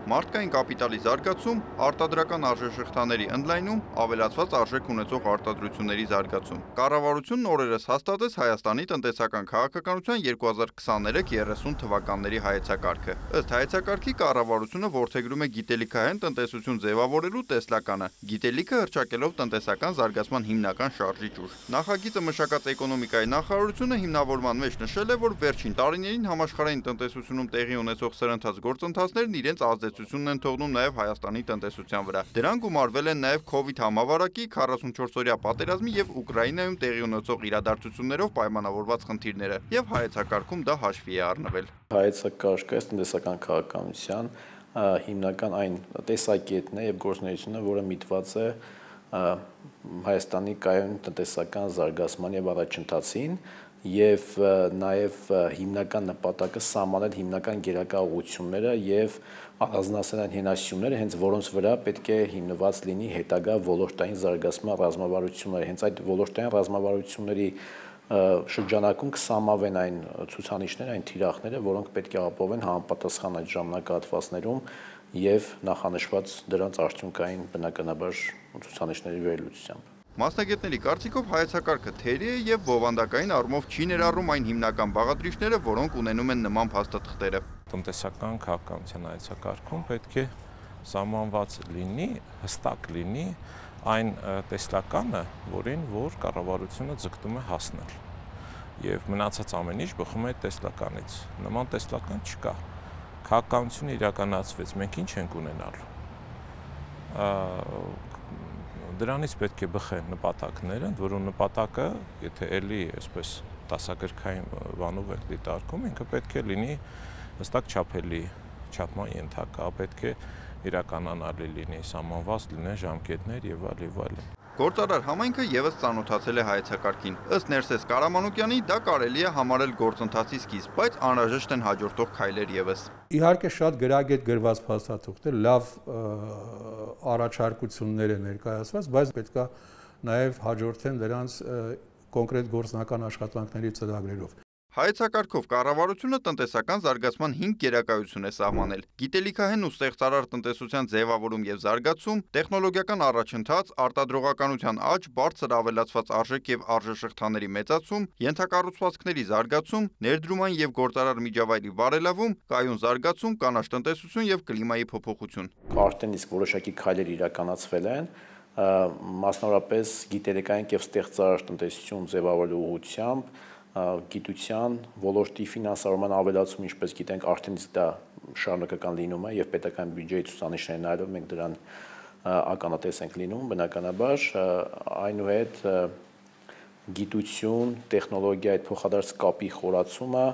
Մարդկային կապիտալի զարգացում, արտադրական արժեշղթաների ընդլայնում, ավելացված արժեք ունեցող արտադրությունների զարգացում։ Կառավարությունն օրերս հաստատեց Հայաստանի տնտեսական քաղաքականության 2023-30 թվականների հայեցակարգը։ Ըստ հայեցակարգի կառավարությունը որդեգրում է գիտելիքահեն տնտեսություն ձևավորելու տեսլականը, գիտելիքը հռչակելով տնտեսական զարգացման հիմնական շարժիչ ուժ։ Նախագիծը մշակած էկոնոմիկայի նախարարությունը հիմնավորման մեջ նշել է, որ վերջին տարիներին համաշխարհային տնտեսությունում տեղի ունեցող սրընթաց գործընթացներն իրենց ազդեցությունն են թողնում նաև Հայաստանի տնտեսության վրա։ Դրան գումարվել են նաև COVID համավարակի, 44-օրյա պատերազմի եւ Ուկրաինայում տեղի ունեցող իրադարձություններով պայմանավորված խնդիրները, եւ հայեցակարգում դա հաշվի է առնվել։ Հայեցակարգը տնտեսական քաղաքականության հիմնական այն տեսակետն է եւ գործունեությունը, որը միտված է Հայաստանի կայուն տնտեսական զարգացման եւ առաջընթացին եւ նաեւ հիմնական նպատակը սահմանել հիմնական գերակա ուղղությունները եւ առանձնացնել այն հենասյունները, հենց որոնց վրա պետք է հիմնված լինի հետագա ոլորտային զարգացման ռազմավարությունները։ Հենց այդ ոլորտային ռազմավարությունների շրջանակում կսահմանվեն այն ցուցանիշները, այն թիրախները, որոնք պետք է ապահովեն համապատասխան այդ ժամանակահատվածներում եւ նախանշված դրանց արդյունքային բնականաբար ցուցանիշների վերլուծությամբ։ Մասնագետների կարծիքով հայեցակարգը թերի է եւ բովանդակային առումով չի ներառում այն հիմնական բաղադրիչները, որոնք ունենում են նման փաստաթղթերը։ Տնտեսական քաղաքականության հայեցակարգում պետք է սահմանված լինի, հստակ լինի այն տեսլականը, որ կառավարությունը ձգտում է հասնել։ Եվ մնացած ամեն ինչ բխում է այդ տեսլականից։ Նման տեսլական չկա։ Քաղաքականությունը իրականացվեց, մենք ինչ ենք ունենալու։ Դրանից պետք է բխեն նպատակները, ընդ որում նպատակը, եթե էլի այսպես դասագրքային բանով ենք դիտարկում, ինքը պետք է լինի հստակ չափելի, չափման ենթակա, պետք է իրականանալի լինի, սահմանված լինեն ժամկետներ եւ այլն։ Գործարար համայնքը եւս ծանոթացել է հայեցակարգին։ Ըստ Ներսես Կարամանոկյանի, դա կարելի է համարել գործընթացի սկիզբ, բայց անհրաժեշտ են հաջորդող քայլեր եւս։ Իհարկե շատ գրագետ գրված փաստաթուղթեր, լավ առաջարկություններ են ներկայացված, բայց պետք է նաեւ հաջորդեն դրանց կոնկրետ գործնական աշխատանքների ծրագրերով։ Հայեցակարգով կառավարությունը տնտեսական զարգացման 5 գերակայություն է սահմանել՝ գիտելիքահեն ու ստեղծարար տնտեսության ձևավորում եւ զարգացում, տեխնոլոգիական առաջընթաց, արտադրողականության աճ, բարձր ավելացված արժեք եւ արժեշղթաների մեծացում, ենթակառուցվածքների զարգացում, ներդրումային եւ գործարար միջավայրի բարելավում, կայուն զարգացում, կանաչ տնտեսություն եւ կլիմայի փոփոխություն։ Արդեն իսկ որոշակի քայլեր իրականացվել են, մասնավորապես գիտելիքային եւ ստեղծարար տնտեսություն ձևավորելու ուղղությամբ գիտության ոլորտի ֆինանսավորման ավելացում, ինչպես գիտենք, արդեն իսկ դա շարունակական լինում է եւ պետական բյուջեի ցուցանիշներն այլով մենք դրան ականատես ենք լինում, բնականաբար այնուհետ գիտություն, տեխնոլոգիա այդ փոխադարձ կապի խորացումը,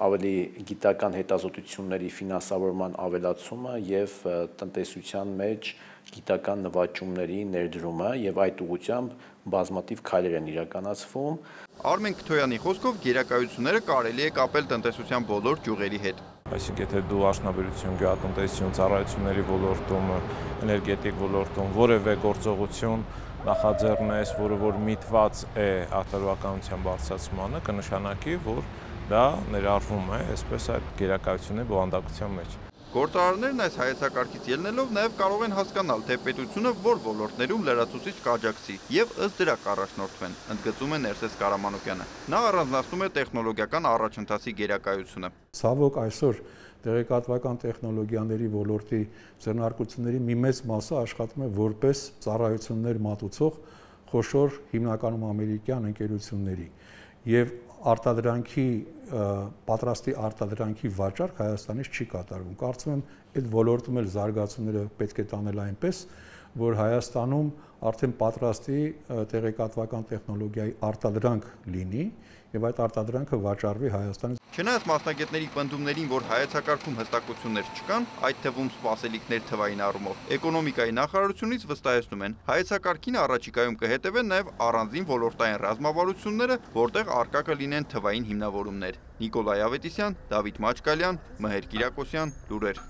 ավելի գիտական հետազոտությունների ֆինանսավորման ավելացումը եւ տնտեսության մեջ գիտական նվաճումների ներդրումը եւ այդ ուղղությամբ բազմաթիվ քայլեր են իրականացվում։ Արմեն Քթոյանի խոսքով գերակայությունները կարելի է կապել տնտեսության բոլոր ճյուղերի հետ։ Այսինքն եթե դու արդյունաբերություն, գյուղատնտեսություն, ծառայությունների ոլորտում, էներգետիկ ոլորտում որևէ գործողություն նախաձեռնես, որը միտված է արտադրողականության բարձրացմանը, կնշանակի, որ դա ներառվում է այսպես այդ գերակայությունների բովանդակության մեջ։ Գործարարներն այս հայեցակարգից ելնելով նաև կարող են հասկանալ, թե պետությունը որ ոլորտներում լրացուցիչ կաջակցի եւ ըստ դրա կառաջնորդվեն, ընդգծում է Ներսես Կարամանոկյանը։ Նա առանձնացնում է տեխնոլոգիական առաջընթացի գերակայությունը։ Ցավոք այսօր տեղեկատվական տեխնոլոգիաների ոլորտի ձեռնարկությունների մի մեծ մասը աշխատում է որպես ծառայություններ մատուցող խոշոր հիմնականում ամերիկյան ընկերությունների եւ արտադրանքի պատրաստի արտադրանքի վաճառք Հայաստանից չի կատարվում։ Կարծում եմ այդ ոլորտում էլ զարգացումները պետք է տանել այնպես, որ Հայաստանում արդեն պատրաստի տեղեկատվական տեխնոլոգիայի արտադրանք լինի եւ այդ արտադրանքը վաճառվի Հայաստանից։ Չնայած մասնագետների պնդումներին, որ հայեցակարգում հստակություններ չկան, այդ թվում սպասելիքներ թվային առումով, էկոնոմիկայի նախարարությունից վստահեցնում են, հայեցակարգին առաջիկայում կհետևեն նաև առանձին ոլորտային ռազմավարությունները, որտեղ առկա կլինեն թվային հիմնավորումներ։ Նիկոլայ Ավետիսյան, Դավիթ Մաչկալյան, Մհեր Կիրակոսյան, լուրեր։